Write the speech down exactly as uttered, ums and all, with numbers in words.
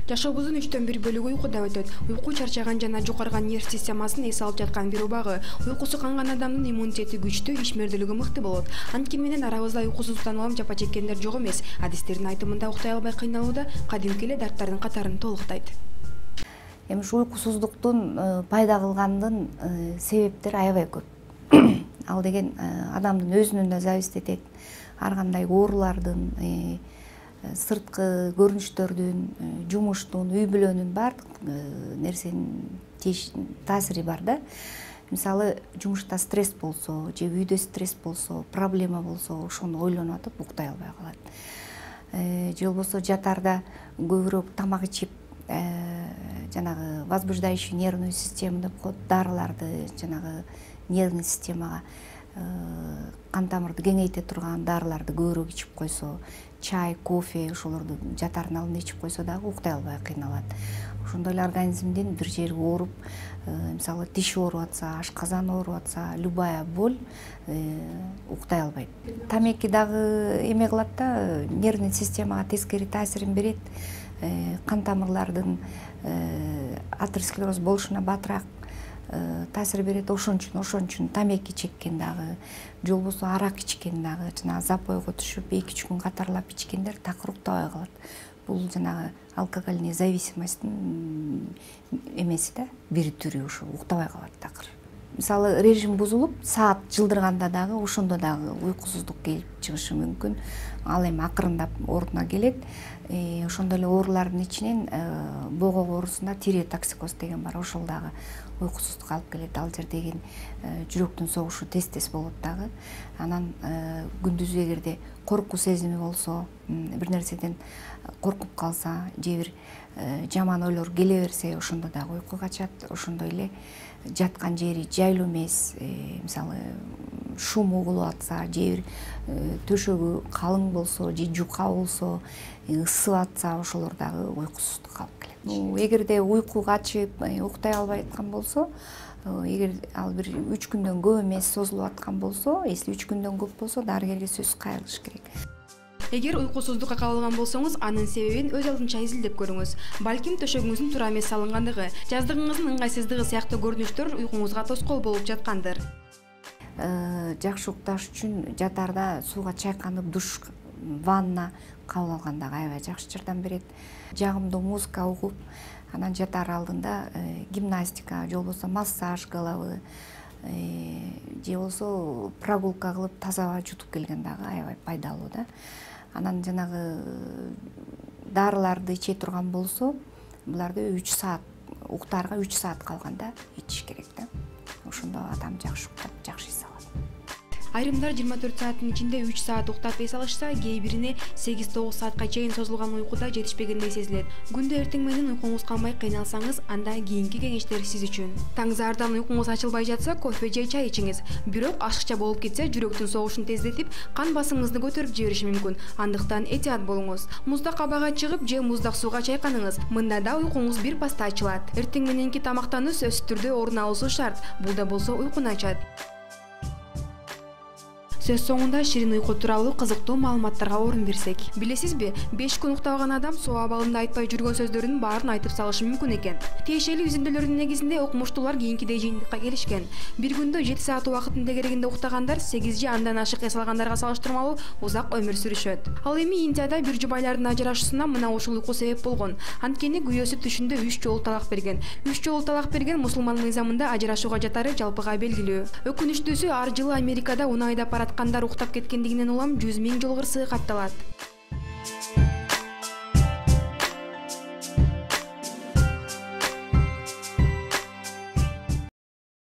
Жашообуздун үчтөн бир бөлүгү уйкуда өтөт. Уйку чарчаган жана жукарган нерв системасын эс алып жаткан бир убагы. Уйкусу канган адамдын иммунитети күчтүү, ишмердүүлүгү мыкты болот. Анткени менен арабызда уйкусуздуктан улам жапа чеккендер жок эмес. Адистердин айтымында уктай албай кыйналууда кадимки эле дарттардын катарын толуктайт. Эми ушу уйкусуздуктун пайда кылгандын себептери аябай көп. Ал деген адамдын өзүнөн да зависит этет. Ар кандай оорулардын, сырткы көрүнүштөрдүн, жумуштун, үй бүлөнүн баардык нерсенин таасири бар да. Мисалы, жумушта стресс болсо, же үйдө стресс болсо, проблема болсо, ошону ойлонуп атып уктай албай калат. Же болбосо жатарда көбүрөөк тамак ичип, жанагы возбуждающий нервную систему деп коет, дарыларды, жанагы нервный системага кан тамырды кеңейте турган дарыларды көбүрөөк ичип койсо, чай, кофе ошолорду жатардын алдында ичип койсо дагы уктай албай кыйналат. Ошондой эле организмдин бир жери ооруп, мисалы тиш ооруп атса, ашказан ооруп атса, любая боль уктай албайт. Тамеки дагы эме кылат да, нервный системага тескери таасирин берет. Кан тамырлардын атеросклероз болушуна батыраак таасир берет. Ошон үчүн ошон үчүн тамеки чеккен дагы, же болбосо арак ичкен дагы, жана запойго түшүп эки үч күн катарлап ичкендер такыр уктабай калат. Бул жанагы алкогольный зависимостьтин эмеси да, бир түрү ушу уктабай калат такыр. Мисалы, режим бузулуп, саат жылдырганда дагы ошондо дагы уйкусуздук келип чыгышы мүмкүн. Ал эми акырындап ордуна келет. Ошондой эле оорулардын ичинен богок оорусунда тиреотоксикоз деген бар. Ошол дагы уйкусуздукка алып келет. Ал жердеги жүрөктүн согушу тез-тез болот дагы. Анан күндүзү эгерде коркуу сезими болсо, бир нерседен коркуп калса, же бир жаман ойлор келе берсе, ошондо дагы уйку качат. Ошондой эле жаткан жери жайлуу эмес, мисалы шум угулуп атса, же бир төшөгү калың болсо, же жука болсо, ысып атса, ошолор дагы уйкусуздукка алып келет. Эгерде уйку качып, уктай албай аткан болсо, эгер ал бир үч күндөн көп эмес созулуп аткан болсо, если үч күндөн көп болсо, дарыгерге сөзсүз кайрылыш керек. Эгер уйкусуздукка кабылган болсоңуз, анын себебин өз алдынча изилдеп көрүңүз. Балким төшөгүңүздүн туура эмес салынгандыгы, жаздыгыңыздын ыңгайсыздыгы сыяктуу көрүнүштөр уйкуңузга тоскоол болуп жаткандыр. Жакшы укташ үчүн жатарда сууга чайканып, душ, ванна кабыл алган дагы аябай жакшы жардам берет. Жагымдуу музыка угуп, анан жатар алдында гимнастика, же болбосо массаж головы, же болбосо прогулка кылып таза аба жутуп келген дагы аябай пайдалуу да. Анан жанагы дарыларды иче турган болсо, буларды үч саат, уктаарга үч саат калганда ичиш керек да. Ошондо адам жакшы уктап, жакшы эс алат. Айрымдар жыйырма төрт сааттын ичинде үч саат уктап эс алышса, кээ бирине сегиз тогуз саатка чейин созулган уйкуда жетишпегендей сезилет. Күндө эртең менен уйкуңуз канбай кыйналсаңыз, анда кийинки кеңештер сиз үчүн. Таңсаардан уйкуңуз ачылбай жатса, кофе же чай ичиңиз. Бирок ашыкча болуп кетсе, жүрөктүн согушун тездетип, кан басымыңызды көтөрүп жибериши мүмкүн. Андыктан этият болуңуз. Муздак абага чыгып же муздак сууга чайканыңыз. Мында да уйкуңуз бир паста ачылат. Эртең мененки тамактануу сөзсүз түрдө орун алуусу шарт. Бул да болсо уйкуну ачат. Сөз соңунда ширин уйку тууралуу кызыктуу маалыматтарга орун берсек. Билесизби, беш күн уктабаган адам суу абалында айтпай жүргөн сөздөрдүн баарын айтып салышы мүмкүн экен. Тиешелүү изилдөөлөрдүн негизинде окумуштуулар кийинкидей жыйынтыкка келишкен. Бир күндө жети саат убакытын тегерегинде уктагандар сегиз же андан ашык эс алгандарга салыштырмалуу узак өмүр сүрүшөт. Ал эми Индияда бир жубайлардын ажырашуусуна мына ушул уйку себеп болгон. Анткени күйөөсү түшүндө үч жолу талак берген. Үч жолу талак берген мусулман мыйзамында ажырашууга жатары жалпыга белгилүү. Өкүнүчтүүсү, ар жылы Америкада унайда апарат кандар уктап кеткендигинен улам жүз миң жол кырсыгы катталат.